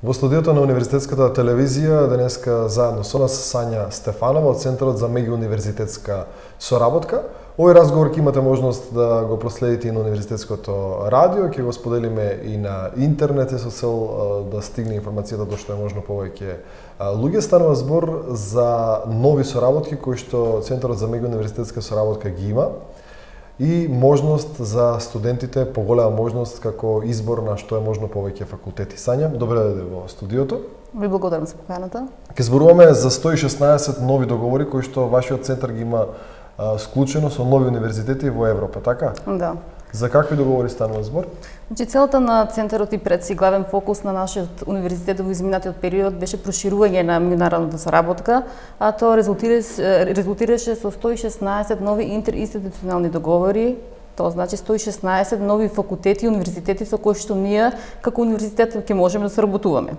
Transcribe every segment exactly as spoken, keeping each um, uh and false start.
Во студиото на Универзитетската телевизија денеска заедно со нас Сања Стефанова од Центарот за меѓууниверзитетска соработка. Овој разговор ќе имате можност да го проследите и на Универзитетското радио, ќе го споделиме и на интернет со цел да стигне информацијата до што е можно повеќе луѓе. Станува збор за нови соработки кои што Центарот за меѓууниверзитетска соработка ги има и можност за студентите, поголема можност како избор на што е можно повеќе факултети. Сања, добре дојде во студиото. Ви благодарам за поканата. Ке зборуваме за сто и шеснаесет нови договори кои што вашиот центар ги има а, склучено со нови универзитети во Европа, така? Да. За какви договори станува збор? Значи, целата на центарот и пред си главен фокус на нашиот универзитет во изминатиот период беше проширување на меѓународната соработка, а тоа резултираше, резултираше со сто и шеснаесет нови интеринституционални договори. Тоа значи сто и шеснаесет нови факултети и универзитети со кои што ние како универзитет ќе можеме да соработуваме.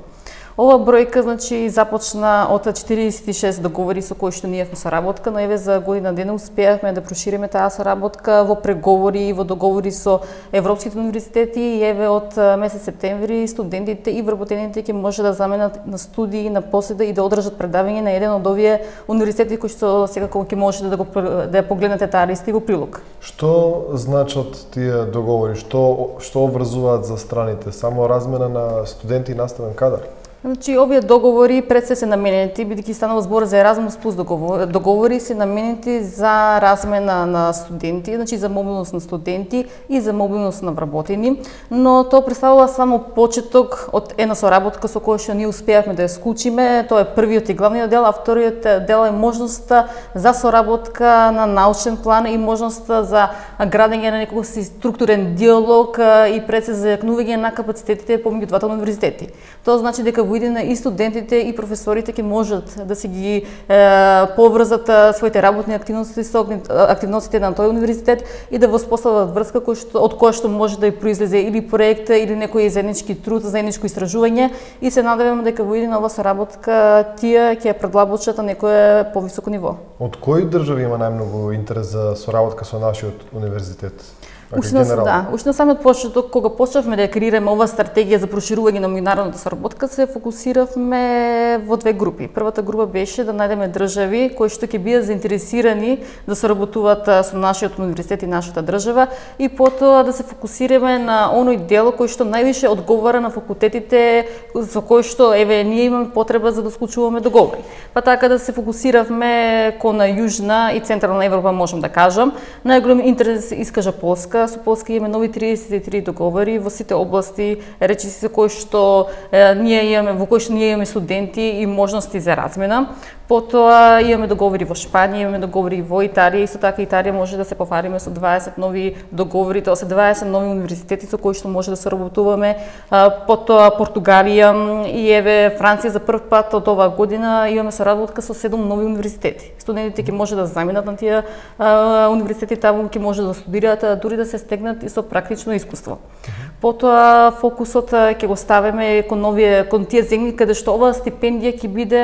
Ова бројка значи започна од четириесет и шест договори со кои што ние во соработка, но еве за година дена успеавме да прошириме таа соработка во преговори и во договори со европските универзитети и еве од месец септември студентите и вработените ќе може да заменат на студии, на поседа и да одржат предавање на еден од овие универзитети кои што секако ќе можете да го да ја погледнете таа листа и во прилог. Што значат тие договори? Што што обврзуваат за страните? Само размена на студенти и наставен кадар? Значи, овие договори пред се се наменети, бидејќи станува збор за Еразмус плюс договори, договори се наменети за размена на студенти, значи за мобилност на студенти и за мобилност на вработени, но тоа представува само почеток од една соработка со која што ние успеавме да ја склучиме. Тоа е првиот и главниот дел, а вториот дел е можноста за соработка на научен план и можноста за градење на некој си структурен диалог и пред се зајакнување на капацитетите помеѓу двата универзитети. Тоа значи дека во иднина и студентите и професорите ќе можат да се ги е, поврзат своите работни активности со активностите на тој универзитет и да воспостават врска кој што, од која што може да и произлезе или проект или некој заеднички труд, заедничко истражување и се надеваме дека во иднина ова соработка тие ќе ја предлабочат на некое повисоко ниво. Од кои држави има најмногу интерес за соработка со нашиот универзитет? Уште на, да, уште на самиот почеток, кога почнавме да ја креираме ова стратегија за проширување на меѓународната соработка, се фокусиравме во две групи. Првата група беше да најдеме држави кои што ќе бидат заинтересирани да соработуваат со нашиот универзитет и нашата држава и потоа да се фокусираме на оној дел кој што највише одговара на факултетите со кои што еве ние имаме потреба за да склучуваме договори. Па така да се фокусиравме кон Јужна и Централна Европа, можам да кажам. Најголем интерес искажа Полска. Со Полска имаме нови триесет и три договори во сите области, речиси со кои што е, ние имаме во кои што ние имаме студенти и можности за размена. Потоа имаме договори во Шпанија, имаме договори во Италија, исто така Италија може да се пофариме со дваесет нови договори, тоа се дваесет нови универзитети со кои што може да соработуваме. Потоа Португалија и еве Франција за прв пат од оваа година имаме соработка со седум нови универзитети. Студентите ќе може да заминат на тие универзитети, таму ќе може да студираат, дури да се стегнат и со практично искуство. Потоа фокусот ќе го ставиме кон новие кон тие земји каде што оваа стипендија ќе биде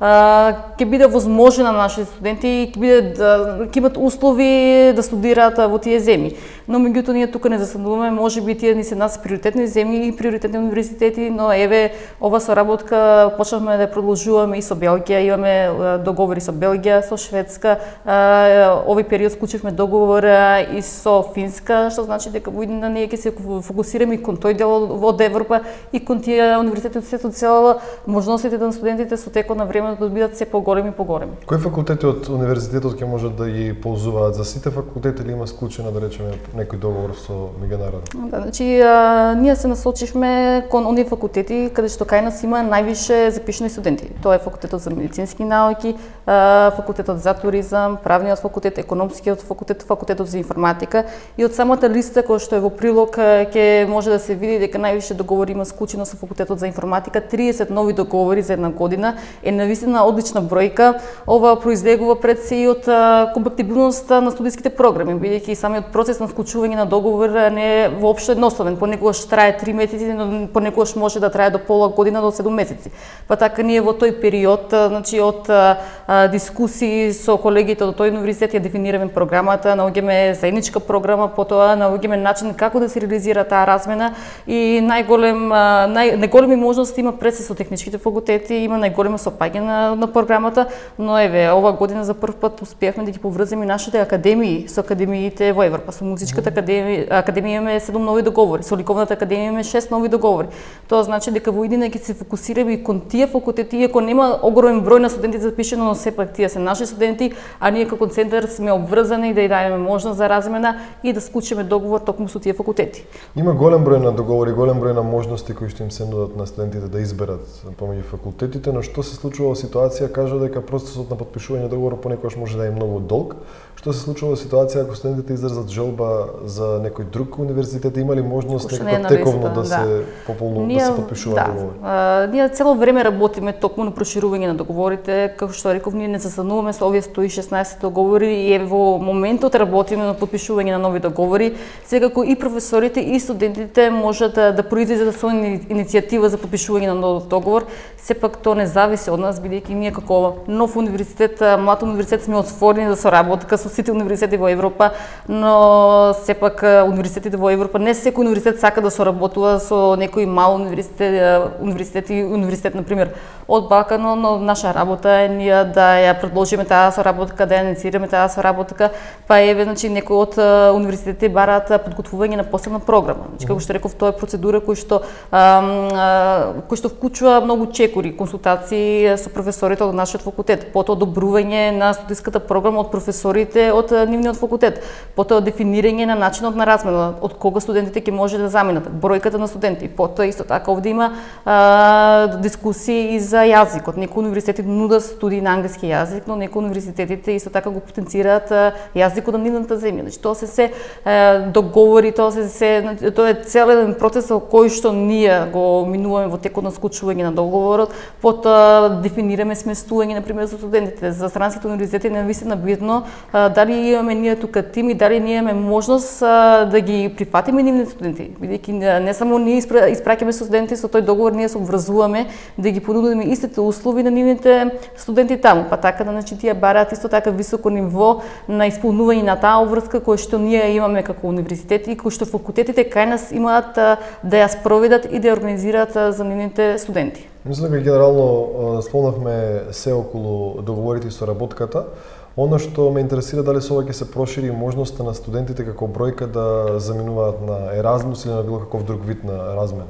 ќе биде возможна на нашите студенти и ќе биде ќе имат услови да студираат во тие земји. Но меѓутоа ние тука не застануваме, можеби тие ни се нас приоритетни земји и приоритетни универзитети, но еве ова соработка почнавме да ја продолжуваме и со Белгија, имаме договори со Белгија, со Шведска. Овој период склучивме договор и со Финска, што значи дека во иднина ние ќе се фокусираме и кон тој дел од Европа и кон тие универзитети од светот цела, можностите на студентите со текот на времето да бидат се поголеми и поголеми. Кои факултети од универзитетот ќе можат да ги ползуваат? За сите факултети или има склучено, да речеме, некој договор со меѓународен? Да, значи а, ние се насочивме кон оние факултети каде што кај нас има највише запишани студенти. Тоа е факултетот за медицински науки, а, факултетот за туризам, правниот факултет, економскиот факултет, факултетот за информатика и од самата листа која што е во прилог ќе може да се види дека највише договори има склучено со факултетот за информатика, триесет нови договори за една година е на навистина одлична бројка. Ова произлегува пред се и од компатибилност на студиските програми, бидејќи самиот процес на склучување на договор не е воопшто едноставен. Понекогаш трае три месеци, но понекогаш може да трае до пола година до седум месеци. Па така ние во тој период, значи од а, дискусии со колегите од тој универзитет ја дефинираме програмата, наоѓаме заедничка програма, потоа наоѓаме начин како да се реализира таа размена и најголем нај најголеми можности има пред се со техничките факултети, има најголемо сопаѓање на, на програмата, но еве ова година за прв пат успеавме да ги поврземе нашите академии со академиите во Европа. Со музичката академија, академија имаме седум нови договори, со ликовната академија имаме шест нови договори. Тоа значи дека во иднина ќе се фокусираме и кон тие факултети, иако нема огромен број на студенти запишено, но сепак тие се наши студенти, а ние како центар сме обврзани да ја дадеме можност за размена и да склучиме договор токму со тие факултети. Има голем број на договори, голем број на можности кои што им се нудат на студентите да изберат помеѓу факултетите, но што се случува во ситуација, кажа дека процесот на потпишување договор понекогаш може да е многу долг. Што се случува во ситуација ако студентите изразат желба за некој друг универзитет, има ли можност некако тековно да, да се пополнува, да се потпишува да. договор? А, ние цело време работиме токму на проширување на договорите, како што реков, ние не застануваме со овие сто и шеснаесет договори и е во моментот работиме на потпишување на нови договори. Секако и професорите и студентите можат да, да произлезат со иницијатива за потпишување на нов договор. Сепак тоа не зависи од нас, бидејќи ние како нов универзитет, млад универзитет сме отворени за соработка со сите универзитети во Европа, но сепак универзитетите во Европа не секој универзитет сака да соработува со некој мал универзитет, универзитет и универзитет на пример од Балканот, но наша работа е ние да ја предложиме таа соработка, да ја инициираме таа соработка, па еве значи некои од универзитетите бараат подготвување на посебна програма. Значи како што реков, тоа е процедура која што кој што вклучува многу чекори, консултации со професорите од нашиот факултет, потоа одобрување на студиската програма од професорите од нивниот факултет, потоа дефинирање на начинот на размена, од кога студентите ќе може да заминат, бројката на студенти, потоа исто така овде има а, дискусии и за јазикот. Некои универзитети нудат студии на англиски јазик, но некои универзитетите исто така го потенцираат јазикот на нивната земја. Значи тоа се се е, договори, тоа се се тоа е цел еден процес кој што ние го минуваме во текот на склучување на договорот, потоа дефинираме сместување на пример за студентите. За странските универзитети е навистина битно а, дали имаме ние тука тим и дали ние имаме можност а, да ги прифатиме нивните студенти, бидејќи не, не само ние испра, испраќаме студенти, со тој договор ние се обврзуваме да ги понудиме истите услови на нивните студенти таму, па така да значи тие бараат исто така високо ниво на исполнување на таа обврска која што ние имаме како универзитети и кој што факултетите кај нас имаат а, да ја спроведат и да ја организираат а, за нивните студенти. Мислам дека генерално спомнавме се околу договорите и соработката. Оно што ме интересира дали со ова ќе се прошири можноста на студентите како бројка да заминуваат на Еразмус или на било каков друг вид на размена.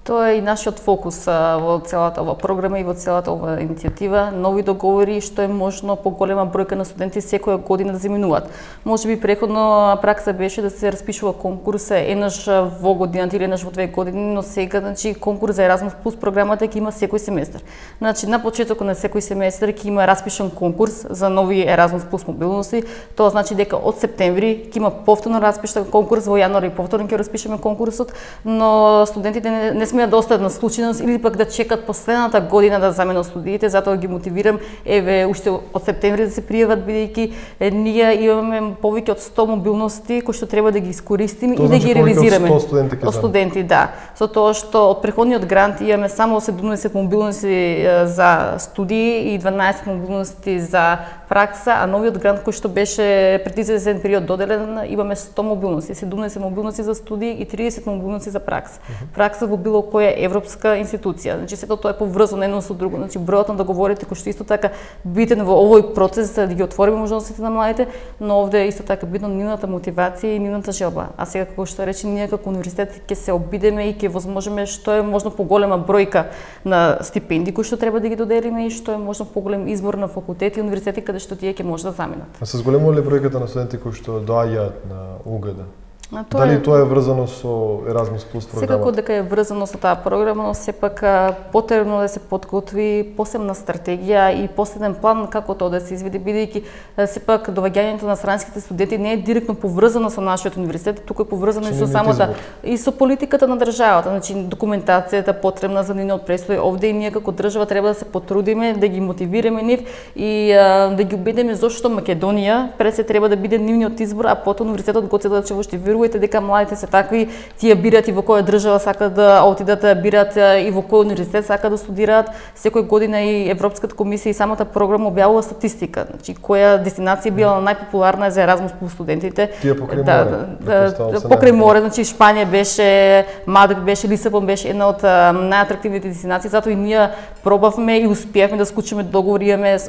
Тоа е и нашиот фокус а, во целата ова програма и во целата ова иницијатива, нови договори што е можно поголема бројка на студенти секоја година да заминуваат. Можеби преходно пракса беше да се распишува конкурс еднаш во годината или еднаш во две години, но сега значи конкурс за Еразмус плюс програмата ќе има секој семестар. Значи на почетокот на секој семестар ќе има распишан конкурс за нови Еразмус плюс мобилности. Тоа значи дека од септември ќе има повторно распишан конкурс, во јануари повторно ќе распишеме конкурсот, но студентите не, не смеат да остават на случајност или пак да чекат последната година да заменат студиите, затоа ги мотивирам еве уште од септември да се пријават, бидејќи ние имаме повеќе од сто мобилности кои што треба да ги искористиме и да ги реализираме. Од студенти, од студенти, да. Со тоа што од преходниот грант имаме само седумдесет мобилности за студии и дванаесет мобилности за пракса, а новиот грант кој што беше пред известен период доделен, имаме сто мобилности, седумдесет мобилности за студии и тридесет мобилности за пракса. Пракса во било која европска институција. Значи сето тоа е поврзано едно со друго. Значи бројот на договорите кој што исто така битен во овој процес да ги отвориме можностите на младите, но овде е исто така битно нивната мотивација и нивната желба. А сега како што рече, ние како универзитет ќе се обидеме и ќе возможиме што е можно поголема бројка на стипендии кои што треба да ги доделиме и што е можно поголем избор на факултети и универзитети каде што тие ќе може да заминат. А се зголемува ли бројката на студенти кои што доаѓаат на УГД? Тоа Дали е... тоа е врзано со Еразмус плюс програмата? Секако дека е врзано со таа програма, но сепак потребно да се подготви посебна стратегија и посебен план како тоа да се изведе, бидејќи сепак доаѓањето на странските студенти не е директно поврзано со нашиот универзитет, туку е поврзано и со самата и со политиката на државата, значи документацијата потребна за нивниот престој овде и ние како држава треба да се потрудиме да ги мотивираме нив и а, да ги убедиме зошто Македонија пред се треба да биде нивниот избор, а потоа универзитетот Гоце Делчев што верувате дека младите се такви, тие бират и во која држава сакаат да отидат, бират и во кој универзитет сакаат да студираат. Секој година и Европската комисија и самата програма објавува статистика, значи која дестинација била најпопуларна за Еразмус плюс студентите. Тие покрај да, море. Да, да, покрај море, значи Шпанија беше, Мадрид беше, Лисабон беше една од најатрактивните дестинации, затоа и ние пробавме и успеавме да склучиме договор, имаме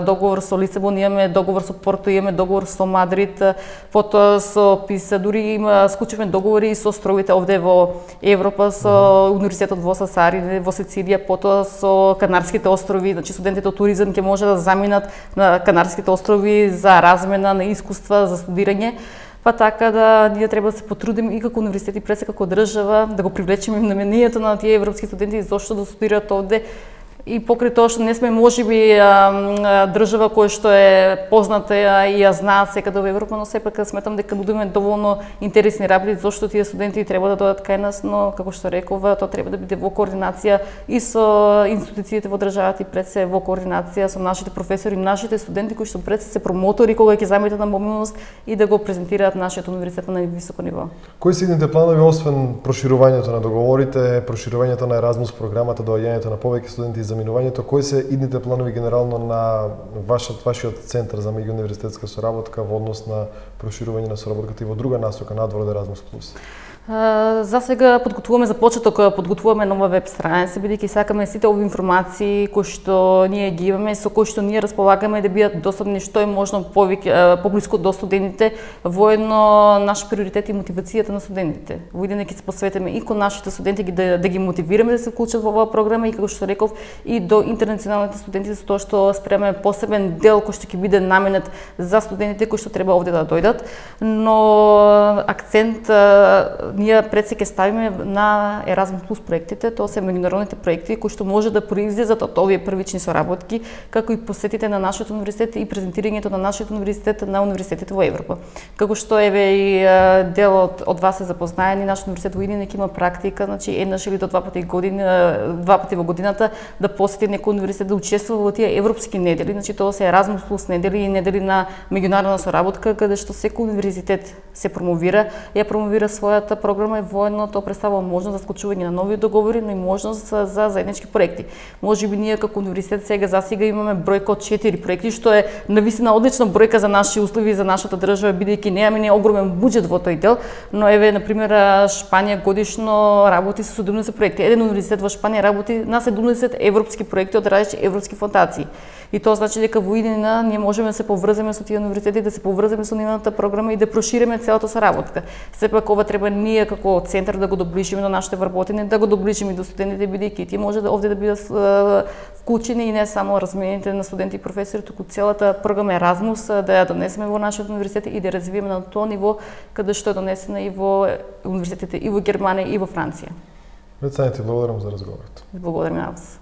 договор со Лисабон, имаме договор со Порто, имаме договор со Мадрид, потоа со Писа, дури има склучивме договори со островите овде во Европа, со универзитетот во Сасари, во Сицилија, потоа со Канарските острови, значи студентите од туризам ќе може да заминат на Канарските острови за размена на искуства, за студирање. Па така да ние треба да се потрудиме и како универзитет и пред се како држава да го привлечеме вниманието на тие европски студенти зошто да студираат овде. И покрај тоа што не сме можеби држава која што е позната и ја знаат секаде во Европа, но сепак сметам дека нудиме доволно интересни работи зошто тие студенти треба да дојдат кај нас, но како што реков, тоа треба да биде во координација и со институциите во државата и пред се во координација со нашите професори, нашите студенти кои што пред се се промотори кога ќе заметат на мобилност и да го презентираат нашиот универзитет на највисоко ниво. Кои се идните планови освен проширувањето на договорите, проширувањето на Еразмус програмата, доаѓањето на повеќе студенти и заминувањето, кои се идните планови генерално на вашиот вашиот центар за меѓууниверзитетска соработка во однос на проширување на соработката и во друга насока надвор од Еразмус плюс? За сега подготвуваме за почеток, подготвуваме нова веб страница, бидејќи сакаме сите овие информации кои што ние ги имаме, со кои што ние располагаме да бидат достапни што е можно повеќе поблиску до студентите, воедно наш приоритет и мотивацијата на студентите. Во идење ќе се посветиме и кон нашите студенти да, да ги мотивираме да се вклучат во оваа програма и како што реков и до интернационалните студенти со тоа што спремаме посебен дел кој што ќе биде наменет за студентите кои што треба овде да дојдат, но акцент ние пред се ќе ставиме на Еразмус плюс проектите, тоа се меѓународните проекти кои што може да произлезат од овие првични соработки, како и посетите на нашиот универзитет и презентирањето на нашиот универзитет на универзитетите во Европа. Како што еве и дел од, од вас се запознаени, нашиот универзитет во Идинек има практика, значи еднаш или до два пати години, два пати во годината да посети некој универзитет да учествува во тие европски недели, значи тоа се Еразмус плюс недели и недели на меѓународна соработка каде што секој универзитет се промовира, ја промовира својата програма и воедно тоа представува можност за склучување на нови договори, но и можност за заеднички проекти. Можеби ние како универзитет сега засега имаме бројка од четири проекти, што е навистина одлична бројка за наши услови и за нашата држава, бидејќи немаме не огромен буџет во тој дел, но еве на пример Шпанија годишно работи со седумдесет проекти. Еден универзитет во Шпанија работи на седумдесет европски проекти од различни европски фондации. И тоа значи дека во иднина ние можеме да се поврземе со тие универзитети, да се поврземе со нивната програма и да прошириме целата соработка. Сепак ова треба ние како центар да го доближиме до нашите вработени, да го доближиме до студентите, бидејќи тие може да овде да бидат вклучени и не само размените на студенти и професори, туку целата програма Еразмус да ја донесеме во нашиот универзитет и да развиеме на тоа ниво каде што е донесена и во универзитетите и во Германија и во Франција. Вецање ти благодарам за разговорот. Благодарам на вас.